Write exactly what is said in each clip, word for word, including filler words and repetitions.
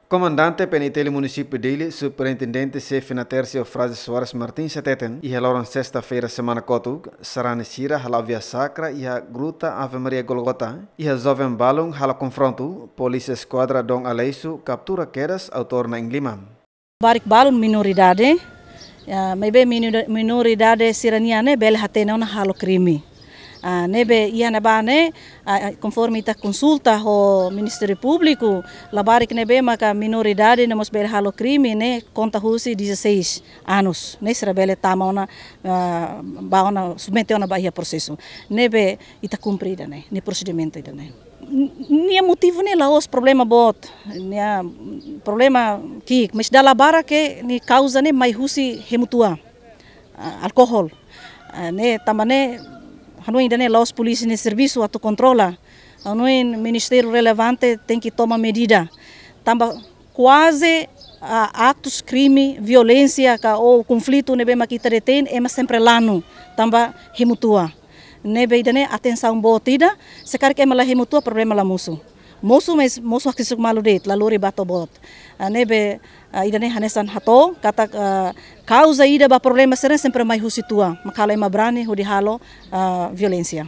Komandante P N I T L Munisípiu Dili, Superintendente Xefe Natércia Eufrazio Soares Martins hateten, iha loron sesta-feira semana kotuk, sarani sira hala'o via sakra iha Gruta Ave Maria Golgota, iha joven balun halo konfrontu, polísia eskuadra Dom Aleixo kaptura kedas autór na'in lima. Labarik balun minoridade, ya, maibé minor-, minoridade sira-nian ne'e bele hatene ona halo krime. Ah, ne'ebé iha ne'ebá ne'e, ah, ah, konforme ita konsulta ho Ministériu Públiku, labarik ne'ebé maka minoridade ne'e mós bele halo krime ne'e konta husi dezasseis anos. Ne'e sira bele tama ona, ah, bá ona, submete ona ba iha prosesu. Ne'ebé ita kumpre ida-ne'e, nia prosedimentu ida-ne'e. N-, nia motivu ne'e la'ós problema boot, nia problema ki'ik, mas dala barak nia kauza ne'e mai husi hemu tua. Ah, alkohol. Ah, ne'e tanba ne'e, hanoin ida-ne'e la'ós polísia nia servisu atu kontrola. Hanoin ministériu relevante tenke toma medida. Tanba kuaze, ah, aktus krime, violénsia ka ou konflitu ne'ebé mak ita detein, ema sempre lanu, tanba hemu tua. Ne'ebé ida-ne'e atensaun boot ida, se karik ema la hemu tua problema la mosu. Mosu, mas mosu hakesek malu de'it, la lori ba to'o boot. Ah, ne'ebé, ah, ida-ne'e hanesan hato'o, katak, ah, kauza ida ba problema sira-ne'e sempre mai husi tua, mak halo ema brani hodi halo, ah, violénsia.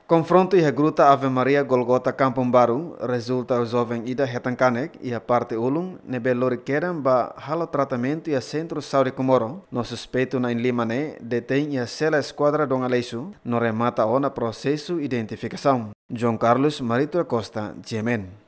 Konfrontu iha Gruta Ave Maria Golgota Kampung Baru rezulta joven ida hetan kanek iha parte ulun ne'ebé lori kedan ba halo tratamentu iha Sentru Saúde Comoro, no suspeitu na'in lima ne'e detein iha sela eskuadra Dom Aleixo, no remata ona prosesu identifikasaun. João Carlos Marito da Costa, G M N.